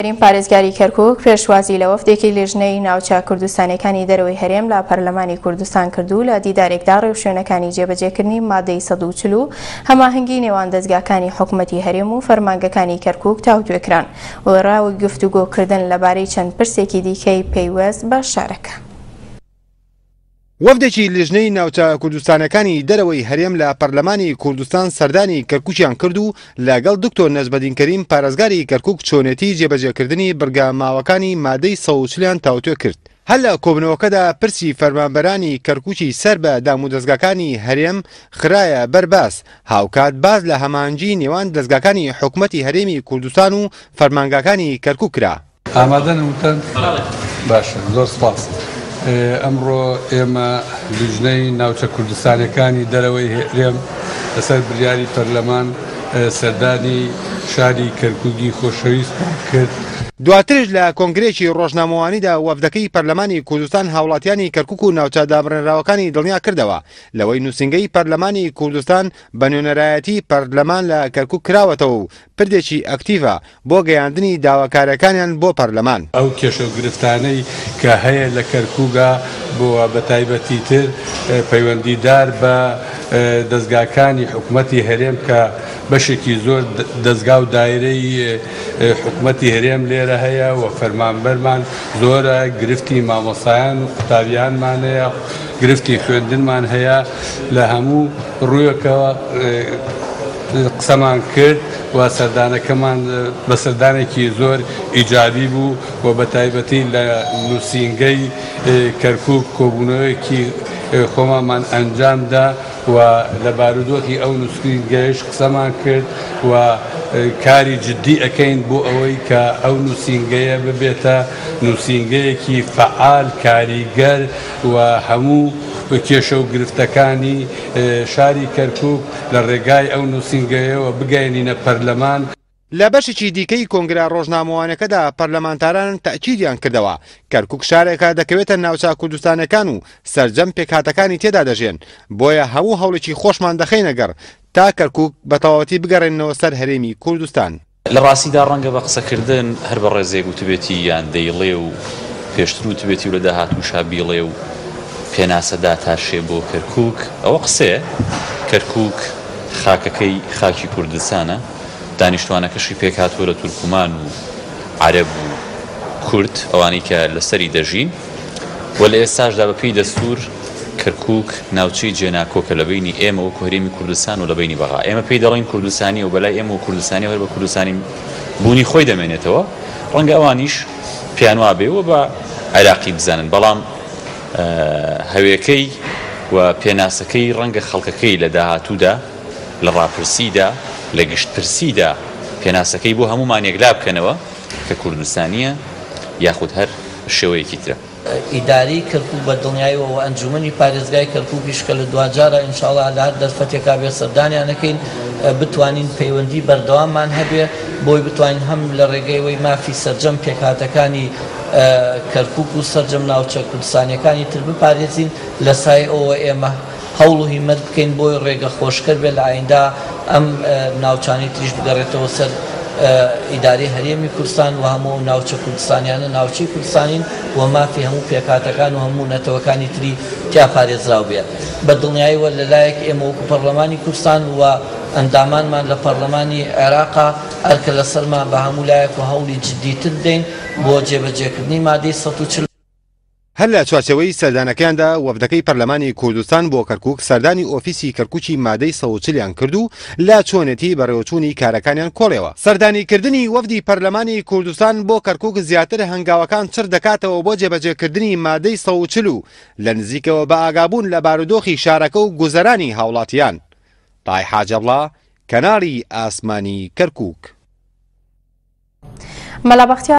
کەریم پارێزگاری کەرکوک پێشوازی لە وەفدێکی لیژنەی ناوچە کوردستانیەکانی دەرەوەی هەرێم لە پەرلەمانی کوردستان کرد و لە دیدارێکدا ڕێوشوێنەکانی جێبەجێکردنی مادەی 140 و هەماهەنگی نێوان دەزگاکانی حکومەتی هەرێم و فەرمانگەکانی کەرکوک تاوتوێ کران و گفتوگۆکردن لەبارەی چەند پرسێکی دیکەی پەیوەست بە شارەکە. وەفدێکی لیژنەی ناوچە کوردستانەکانی دەرەوەی هەرێم لە پەرلەمانی کوردستان سەردانی کەرکوکیان کرد و لەگەڵ دکتۆر نەجمەدین کەریم پارێزگاری کەرکوک چۆنێتی جێبەجێکردنی بڕگە ماوەکانی مادەی 140 یان تاوتوێ کرد. هەر لە کۆبوونەوەکەدا پرسی فەرمانبەرانی کەرکوکی سەر بە دامودەزگاکانی هەرێم خرایە بەر باس، هاوکات باس لە هەماهەنگی نێوان دەزگاکانی حکومەتی هەرێمی کوردستان و فەرمانگاکانی کەرکوک کرا. ئامادەن وتن؟ باشە زۆر سپاس. ئەمڕۆ ئێمە لیژنەی ناوچە کوردستانیەکانی دەرەوەی هەرێم لەسەر بریاری پەرلەمان سەردانی شاری کەرکوکی خۆشەویستمان کرد. دواتریش لە کۆنگرەیەکی ڕۆژنامەوانیدا وەفدەکەی پەرلەمانی کوردستان هاوڵاتیانی کەرکوک و ناوچە دابڕێنراوەکانی دڵنیا کردەوە لەوەی نوسینگەی پەرلەمانی کوردستان بە نوێنەرایەتی پەرلەمان لە کەرکوک کراوەتەوە و پردێکی ئەکتیڤە بۆ گەیاندنی داواکاریەکانیان بۆ پەرلەمان. ئەو کێشەو گرفتانەی کە هەیە لە کەرکوکا بۆ بە تایبەتی تر پەیوەندیدار بە دەزگاکانی حکومەتی هەرێم کە بەشێکی زۆر دەزگا و دایرەی حکومەتی هەرێم لێرە هەیە و فەرمانبەرمان زۆرە، گرفتی مامۆستایان و قوتابیانمان هەیە، گرفتی خوێندنمان هەیە، لە هەموو ڕوویەکەوە قسەمان کرد و سەردانەکەمان بە سەردانێکی زۆر ئیجابی بوو و بە تایبەتی لە نووسینگەی کەرکووک کۆبوونەوەیەکی خۆمانمان ئەنجام دا و لە بارودۆخی ئەو نووسینگەیەش قسەمان کرد و کاری جدی ئەکەین بۆ ئەوەی کە ئەو نووسینگەیە ببێتە نووسینگەیەکی فەعال، کاریگەر و هەموو کێشە و گرفتەکانی شاری کەرکووک لە ڕێگای ئەو نووسینگەیەوە بگەیەنینە پەرلەمان. لە بەشێکی دیکەی کۆنگرە ڕۆژنامەوانیەکەدا پەرلەمانتاران تەئکیدیان کردەوە، کەرکوک شارێکە دەکەوێتە ناوچە کوردستانیەکان و سەرجەم پێکهاتەکانی تێدا دەژێن، بۆیە هەموو هەوڵێکی خۆشمان دەخەینە گەڕ تا کەرکوک بە تەواوەتی بگەڕێننەوە سەر هەرێمی کوردستان. لە ڕاستیدا ڕەنگە بە قسەکردن هەر بەڕێزێک وتبێتی یان دەیڵێ و پێشتر وتبێتی و لە داهاتووشا بیڵێ و پێناسە داتاشێ بۆ کەرکووک، ئەوە قسەیە. کەرکووک خاکەکەی خاکی کوردستانە، دانیشتوانەکەشی پێکهاتووە لە تورکمان و عەرەب و کورد، ئەوانەی کە لەسەری دەژین و لە ئێستاشدا بەپێی دەستوور کەرکووک ناوچەی جێناکۆکە لە بەینی ئێمە وەکو هەرێمی کوردستان و لە بەینی بەغا. ئێمە پێی دەڵێین کوردستانییە و بەلای ئێمەوە کوردستانییە و هەر بە کوردستانی بوونی خۆی دەمێنێتەوە. ڕەنگە ئەوانیش پێیان وابێ و بە عێراقی بزانن، بەڵام هەوێکەی و پێناسەکەی ڕەنگە خەڵکەکەی لە داهاتوودا لە ڕاپرسیدا، لە گشتپرسیدا پێناسەکەی بۆ هەموومان یەکلا بکەنەوە کە کوردستانییە یاخود هەر شێوەیەکی ترە. ئیدارەی کەرکوک بە دڵنیایەوە و ئەنجومەنی پارێزگای کەرکوکیش کە لە دواجارا ان شاء اللە لە هەر دەرفەتێکا بێت سەردانیان ئەکەین بتوانین پەیوەندی بەردەواممان هەبێ بۆی بتوانین هەم لە ڕێگەی ئەوەی مافی سەرجەم پێکهاتەکانی کەرکوک و سەرجەم ناوچە کوردستانیەکانی تر بپارێزین لە سایەی ئەوەوە ئێمە هەوڵ و هیمەت بکەین بۆی ڕێگە خۆشکەر بێت لە ئایندە ئەم ناوچانەی تریش بگەڕێتەوە سەر ئیدارەی هەرێمی کوردستان و هەموو ئەو ناوچە کوردستانیانە ناوچەی کوردستانین و مافی هەموو پێکهاتەکان و هەموو نەتەوەکانی تری تیا پارێزراو بێت. بە دڵنیایەوە لە لایەک ئێمە وەکو پەڕلەمانی کوردستان و ئەندامانمان لە پەڕلەمانی عێراقا ئەرکە لەسەرمان بە هەموو لایەک و هەوڵی جدیتر بدەین بۆ جێبەجێکردنی مادەی 140. هەر لە چوارچێوەی سەردانەکەیاندا وەفدەکەی پەرلەمانی کوردستان بۆ کەرکوک سەردانی ئۆفیسی کەرکوکی مادەی 140 یان کرد و لە چۆنێتی بەڕێوەچوونی کارەکانیان کۆڵیەوە. سەردانیکردنی وەفدی پەرلەمانی کوردستان بۆ کەرکوک زیاتر هەنگاوەکان چڕ دەکاتەوە بۆ جێبەجێکردنی مادەی 140 و لە نزیکەوە بەئاگابوون لە بارودۆخی شارەکە و گوزەرانی هاوڵاتیان. تای حاجەڵا، کەناڵی ئاسمانی کەرکوک. مەلا بەختیار.